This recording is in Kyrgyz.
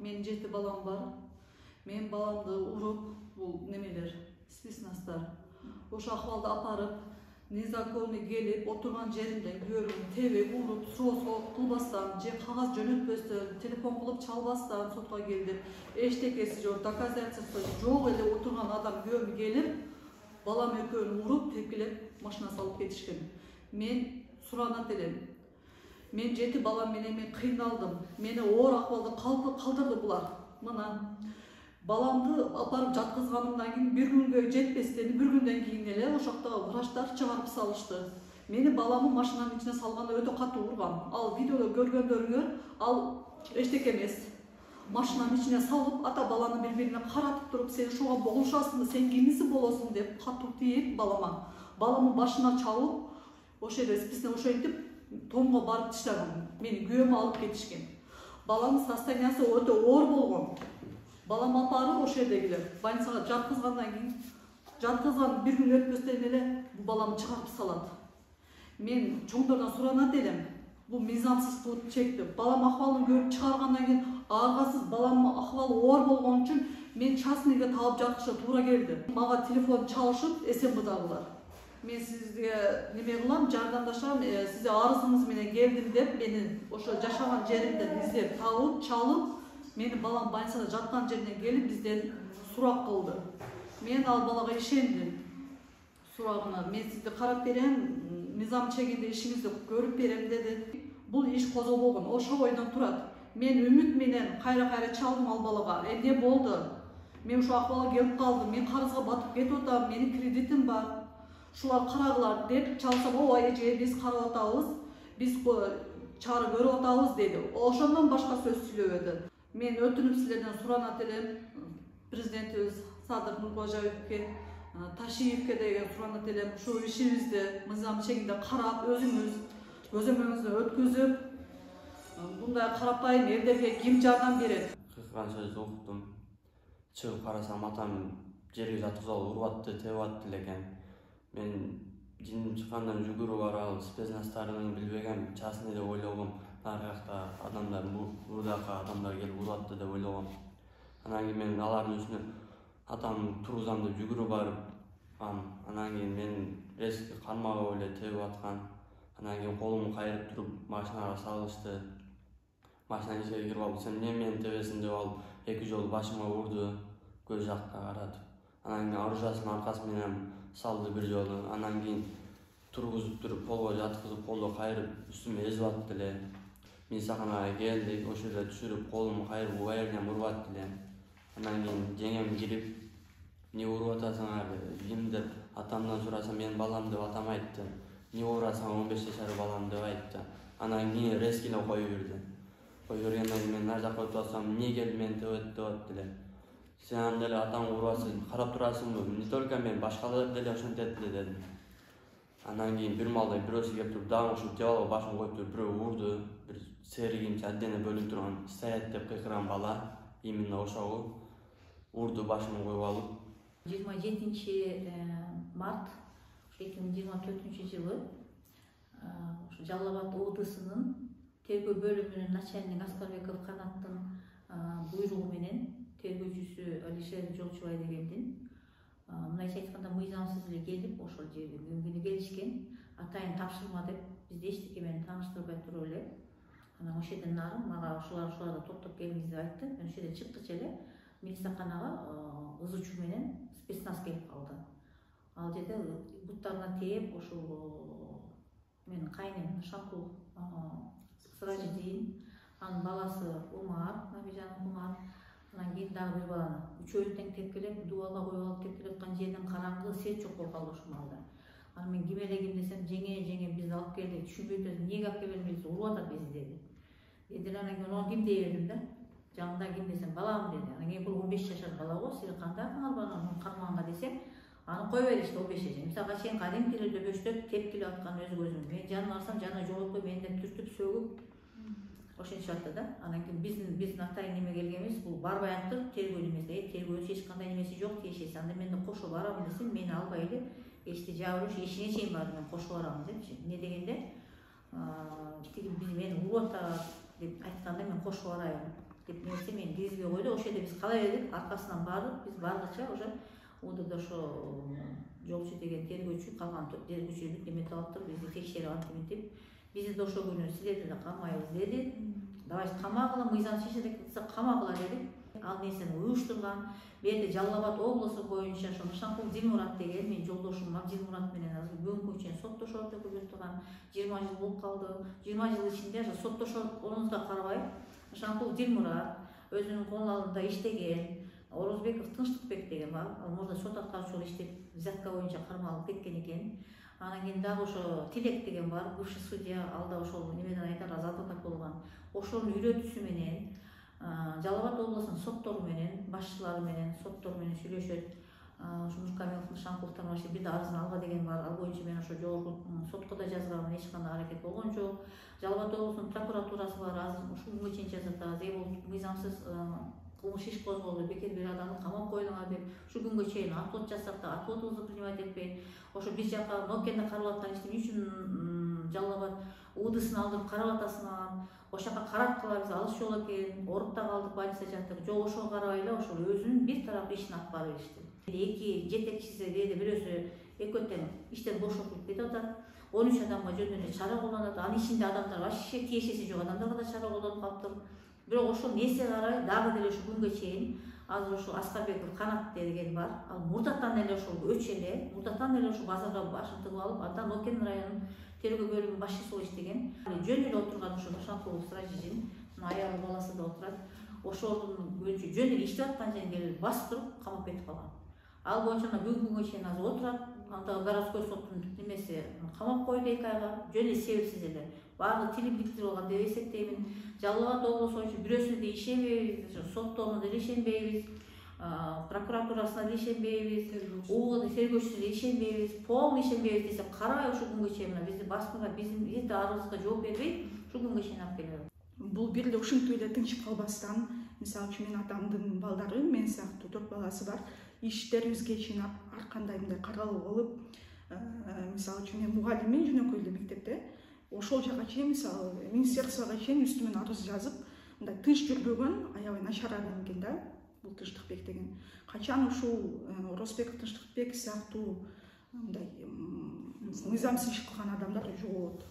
Менин 7 балам бар. Мен баламды уруп, бул немелер, спецназдар. Ошо акыбалда апарып, незаконный келип, отурган жеримден күйөөмдү тебип, уруп, сот кылбастан, же кагаз жөнөтпөстөн, телефон кылып чалбастан сотко келдип, эчтекеси жок, доказательство жок эле отурган адам күйөөмдү келип, балам экөөнү уруп, тепкилеп, машина салып кетишкен. Мен суранат элем. Мен 7 балам менен мен кыйналдым. Мени оор акыбалда калтырды булар. Мына баламды апарып жаткызганымдан кийин бир күнгө жетпестен, бир күндөн кийин эле ошоктогу врачтар чыгарып салышты. Мени баламы машинанын ичине салганда өтө катуу урган. Ал видеодо көргөндөрүңөр, ал эчтеке эмес. Машинанын ичине салып, ата баланы бири-бирине каратып туруп, сен ушуга болушасыңбы, сен кимиси болосуң деп катуу тийип балама. Баламын башына чалып, ошо жерде списне ошентип томго барып таштаган. Мени күйөөмө алып кетишкен. Баламдын состояниясы өтө оор болгон. Балам апарып ошо жердегилер больницага жаткызгандан кийин, жаткызган бир күн өтпөстөн эле бул баламды чыгарып салат. Мен чоңдордон суранат элем. Бул мыйзамсыздык чекти. Балам акыбалын көрүп чыгаргандан кийин аргасыз баламдын акыбалы оор болгон үчүн мен частныйга таап жатышка туура келди. Мага телефон чалышып, СМБдагылар. Мен сизге неме кылам, жардамдашам, сизге арызыңыз менен келдим деп, мени ошо жашаган жеримден издеп, табып, чалып, мени балам больницада жаткан жерине келип бизден сурак кылды. Мен ал балага ишендим. Сурагына мен сизди карап берем, мыйзам чегинде ишиңизди көрүп берем деди. Бул иш козголбогон, ошо бойдон турат. Мен үмүт менен кайра чалдым ал балага. Эмне болду? Мен ушу акыбалга келип калдым. Мен карызга батып кетип атам, менин кредитим бар. Шулар карагылар деп чалсам, ой эже биз карап атабыз, биз чара көрүп атабыз деди. Ошондон башка сөз сүйлөбөдү. Мен өтүнүп силерден суранат элем, президентибиз Садыр Нуркожоевке, Ташиевке деген суранат элем, ушу ишибизди мыйзам чегинде карап, өзүңүз көзөмөлүңүздөн өткүзүп, мындай карапайым элдерге ким жардам берет? Кыркан сөздү уктум. Чыгып карасам атам жерге жаткызып уруп атты, тебип атты экен. Мен жиним чыккандан жүгүрүп барып, спецназдарынын билбеген частный деп ойлогом. Нарыякта адамдар, бурдакы адамдар келип уруп атты деп ойлогом. Анан кийин мен алардын үстүнө атам тургузам деп жүгүрүп барып, анан кийин мен резко кармагып эле тебип аткан. Анан кийин колумду кайрып туруп машинага салышты. Машинанын ичине кирип алып, сен эмне мени тебесиң деп алып, 2 жолу башыма урду, көз жакка каратып. Анан кийин оружиясынын аркасы менен салды бир жолу. Анан кийин тургузуп туруп, полго жаткызып, колду кайрып, үстүмө эзип атты эле. Милицияханага келдик, ошол жерде түшүрүп, колумду кайрып, убайырдан уруп атты эле. Анан кийин жеңем кирип, эмне уруп атасыңар, ким деп атамдан сурасам, менин балам деп атам айтты. Эмне урасаң 15 жашар балам деп айтты. Анан кийин резко эле коюп берди. Коюп бергенден кийин мен нар жакка өтүп атсам, эмне келип мени тебет деп атты эле. Сен анда эле атаңды урасың, карап турасыңбы? Не только мен, башкалар деле ошентет эле дедим. Анан кийин бир малда бирөөсү келип туруп, дагы ушул тебип алып башын коюп туруп, бирөө урду. Бир серигинче отдельно бөлүнүп турган, стоять деп кыйкырган бала, именно ошогу урду башын коюп алып. 27 март 2024 жылы Жалал Абад ОДСынын тергөө бөлүмүнүн начальник Аскарбеков Канаттын буйругу менен тергөөчүсү Алишер Жолчубай дегендин мындайча айтканда мыйзамсыз эле келип ошол жерге мөмкүн келишкен. Атайын тапшырма деп бизди эчтеке менен тааныштырбай туруп эле. Анан ошол жерден нары мага ушуларда токтоп келиңиз деп айтты. Мен ошол жерден чыккыча эле милицияханага ызычуу менен спецназ келип калды. Ал жерде буттарына тээп, ошол менин кайнем Шакул Сыражидин, анын баласы Умар, Набижан Умар, анан кийин дагы бир баланы. Үчөөсү тең тепкилеп, дубалга коюп алып тепкилеп аткан жерден караңгы, свет жок болуп калды ошол маалда. Анан мен ким элегим десем, жеңе бизди алып келди, түшүнбөй турат, эмнеге алып келбедиңиз, уруп атат бизди деди. Дедилер, анан кийин ону ким дей бердим да. Жаңында ким десем, балам деди. Анан кийин бул 15 жашар бала го, сиз кандайсыңар баланы кармаганга десем, аны кой беришти 15 жашар. Мисалга чейин кадимки эле дөбөчтөп тепкилеп аткан өз көзүм. Мен жанына барсам, жанына жолотпой менден түртүп, сөгүп ошентип атты да. Анан кийин биздин атайын неме келгенбиз, бул барбай аттыр, тергөө немеси, тергөөчү эч кандай немеси жок тиешеси. Анда мен да кошо барам десем, мени албай эле эшикти жаап эле эшигине чейин барды, мен кошо барам депчи. Эмне дегенде, тиги мени уруп атат деп айтканда мен кошо барайын. деп нерсе мен киргизбей койду. Ошол жерде биз кала бердик, аркасынан барып биз баргыча уже УДД ошо жолчу деген тергөөчү калган тергөөчүлүк неметип алыптыр, бизди текшерип антип бизди да ошол күнү силерди да камайбыз деди. Давайте камагыла, мыйзам чечет кылса камагыла дедик. Ал нерсени уюштурган. Бу жерде Жалал Абад облусу боюнча ошо Нышанкул Дилмурат деген менин жолдошум Дилмурат менен азыр бүгүнкү чейин соттошот өкүлүп турган 20 жыл болуп калды. 20 жыл ичинде ошо соттошоруңузга карабай Нышанкул Дилмурат өзүнүн колуналарында иштеген, Орозбеков Тынчтыкбек деген бар. Ал мурда сот аткаруучу иштеп, взятка боюнча кармалып кеткен экен. Анан кийин дагы ошо Тилек деген бар, бывший судья, ал да ошол немеден айтар адвокат болгон. Ошонун үйрөтүүсү менен Жалал Абад облусунун соттору менен, башчылары менен, соттору менен сүйлөшөт. Ошо Нуркамилов Нышанкуловдон башка бир да арызын алба деген бар. Ал боюнча мен ошо жогорку сотко да жазганмын, эч кандай аракет болгон жок. Жалал Абад облусунун прокуратурасы бар, азыр ушул күнгө чейин жазат. Мыйзамсыз кылмыш иш козголду, бекер бир адамды камап койдуңар деп ушул күнгө чейин отвод жасап да отводубузду принимать этпей, ошо биз жака Нокенде карап аткан ишти эмне үчүн Жалал Абад УДысын алдырып карап атасыңар, ошол жака караткыла, биз алыс жол экен, ооруп да калдык, больницада жаттык. Жок, ошого карабай эле ошол өзүнүн бир тарап ишин алып барып беришти. Эки жетекчиси бирөөсү экөө тең иштен бошотуп кетип атат. 13 адамга жөн эле чара колдонот. Анын ичинде адамдар вообще тиешеси жок адамдарга да чара колдонуп калыптыр. Бирок ошол нерсе карай дагы деле ушул күнгө чейин азыр ошо Аскарбеков Канат деген бар. Ал мурдатан эле ошол өч эле, мурдатан эле ошол базарга башын тыгып алып, андан Нокен районунун тергөө бөлүмүнүн башчысы болуп иштеген. Жөн эле отурган ошо Нышанкул Стражижин, аялы баласы да отурат. Ошонун боюнча жөн эле иштеп аткан жерин келип басып туруп камап кетип калган. Ал боюнча бүгүнкү күнгө чейин азыр отурат. Анда городской соттун немеси камап койду 2 айга, жөн эле себепсиз эле. Баардык тили биктирип алган деп эсептеймин. Жалал Абад облусу боюнча бирөөсүнө да ишенбейбиз, сотторуна да ишенбейбиз, прокуратурасына да ишенбейбиз, УД тергөөчүсүнө да ишенбейбиз, полный ишенбейбиз десек, карабай ушул күнгө чейин бизди басмага, биздин арызыбызга жооп бербей, ушул күнгө чейин алып келип. Бул бир эле ушинтип эле тынчып калбастан, мисалы үчүн менин атамдын балдары, мен сыяктуу 4 баласы бар, иштерибизге чейин ар кандай мындай каралып алып, мисалы үчүн мен мугалиммин жөнөкөй эле мектепте. Ошол жака чейин мисалы министерствого чейин үстүмөн арыз жазып, мындай тынч жүрбөгөн, аябай начар адам экен да, бул Тынчтыкбек деген. Качан ушул Орозбеков Тынчтыкбек сыяктуу мындай мыйзамсыз иш кылган адамдар жоголот.